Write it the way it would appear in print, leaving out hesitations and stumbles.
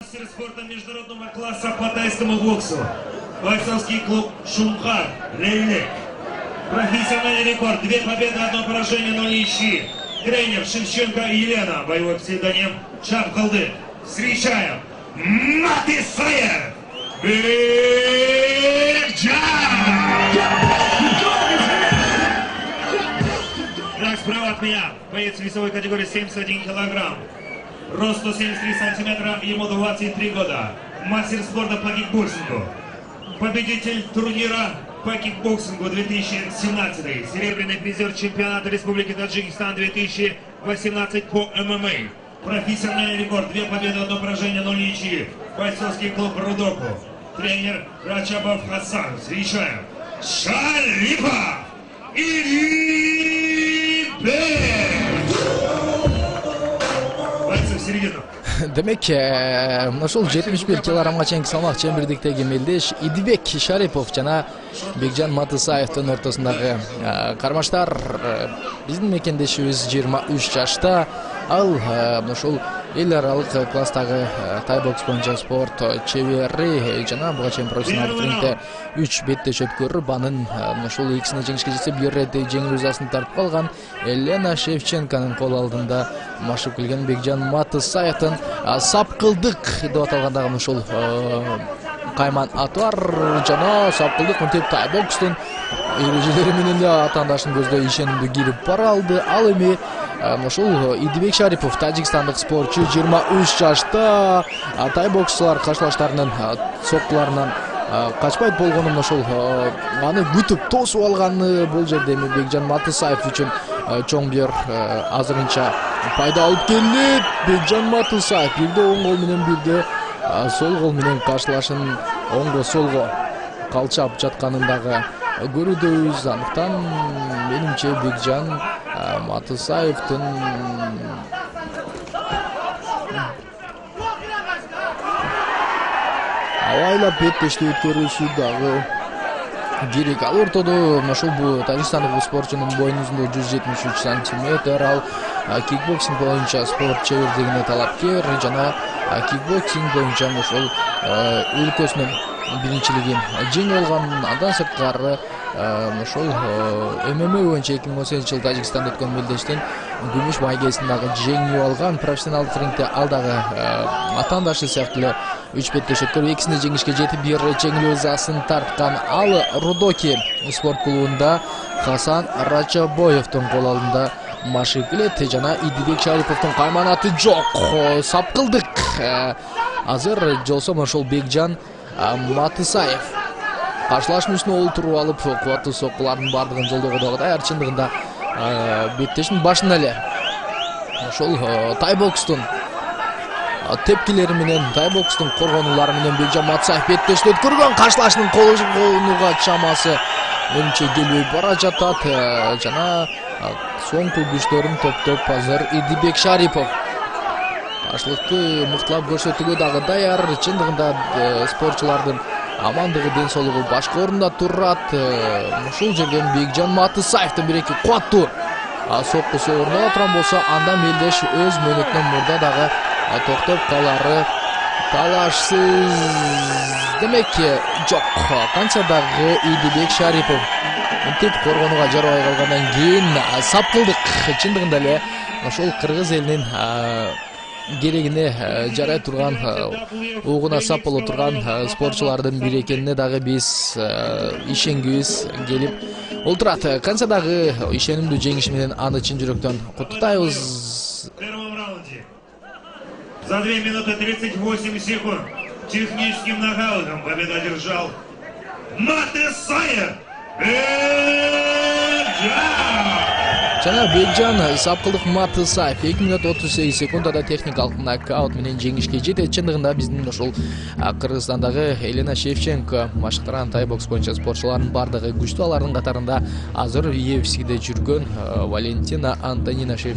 Мастер спорта международного класса по тайскому боксу. Бойцовский клуб «Шумхар», Реллек. Профессиональный рекорд. 2 победы, 1 поражение, 0 ничьи. Тренер Шевченко Елена. Боевой псевдоним Шапкалды. Встречаем Матысаев Так, справа от меня боец весовой категории 71 килограмм. Рост 173 сантиметра, ему 23 года. Мастер спорта по кикбоксингу. Победитель турнира по кикбоксингу 2017. Серебряный призер чемпионата Республики Таджикистан 2018 по ММА. Профессиональный рекорд. 2 победы, 1 поражение, 0 ничьи. Бойцовский клуб Рудоку. Тренер Рачабов Хасан. Встречаем Шарипов Идибек. Бойцы в середину. Демек, ошол 71 килограммга чейинки салмак чембирдиктеги мелдеш Идибек Шарипов жана Бекжан Матысаевдин ортосундагы кармаштар. Биздин мекендешибиз 23 жашта. Ал ошол эл аралык класстагы тайбокс боюнча спорт чебери жана буга чейин профессионалдык рингде 3 беттеш өткөрүп, анын ошол экисине жеңишке жетсе, бир рет жеңил жазасын тартып калган Елена Шевченконун кол алдында машык келген Бекжан Матысаевдин сапкылдык деп аталган ошол кайман аты бар жана сапкылдык мынтип тайбокстун эрежелери менен эле атаандашын көздөй ишенимдүү кирип бара алды. Ал эми ошол Идибек Шарипов, тажикстандык спортчу, 23 жашта. Тайбоксчулар каршылаштарынын соккуларынан качпайт болгонун ошол аны күтүп тосуп алганы бул жерде эми Бекжан Матысаев үчүн чоң бир азырынча пайда алып келет. Бекжан Матысаев бирде оң кол менен, бирде сол кол менен каршылашын оңго солго калчап жатканын дагы көрүүдөбүз. Андыктан менимче Бекжан Матысаевдин абайлап беттешти өткөрүүсү дагы керек. Ал ортодо ошол бул тажикстандык спортчунун боюнун узундугу 173 сантиметр. Ал кикбоксинг боюнча спорт чебердигине талапкер жана кикбоксинг боюнча ошол өлкөсүнүн биринчилигин жеңип алган. Андан сырткары ошол ММА боюнча 2018 жылы Тажикстанда өткөн мелдештин күмүш байгесин дагы жеңип алган. Профессионалдык рингде ал дагы атаандашы сыяктуу эле 3 беттеш өткөрүп, экисине жеңишке жетип, бир жеңил жазасын тарткан. Ал Рудоки спорт клубунда Хасан Рачабоевдун кол алдында машык келет жана Идибек Шариповдун кайманаты жок. Сапкылдык азыр жолсом ошол Бекжан Матысаев каршылашмын үстүнө олтуруп алып, кубаттуу соккулардын бардыгын жолдого дагы даяр. Чындыгында беттештин башында эле ошол тайбокстун тепкилери менен, тайбокстун коргонулары менен Бекжан Матысаев беттешти өткөргөн. Каршылашынын колунуга чамасы менимче келбей бара жатат жана соңку күчтөрүн топтоп азыр Идибек Шарипов каршылыкты мыктылап көрсөтүүгө дагы даяр. Чындыгында спортчулардын амандыгы, ден соолугу башкы орунда турат. Ушул жерден Бекжан Матысаевдин бир-эки кубаттуу соккусу орнуна турган болсо, анда мелдеш өз мөөнөтүнөн мурда дагы токтоп калары талашсыз. Демек, жок, канча дагы Идибек Шарипов мынтип коргонууга жарабай калгандан кийин сапкылдык чындыгында эле ошол кыргыз элинин керегине жарай турган, угуна сап боло турган спортчулардын бири экенине дагы биз ишенгибиз келип олтурат. Канча дагы ишенимдүү жеңиши менен аны чын жүрөктөн куттуктайбыз. В первом раунде за 2 минуты 38 секунд техническим нокаутом победу одержал Матысаев жана Бекжан сапкылдык Матысаев 2 минут 38 секундада техникалык нокаут менен жеңишке жетет. Чындыгында биздин ошол Кыргызстандагы Елена Шевченко машыктырган тайбокс боюнча спортчулардын бардыгы күчтүү. Алардын катарында азыр UFC-де жүргөн Валентина Антонина Шевченко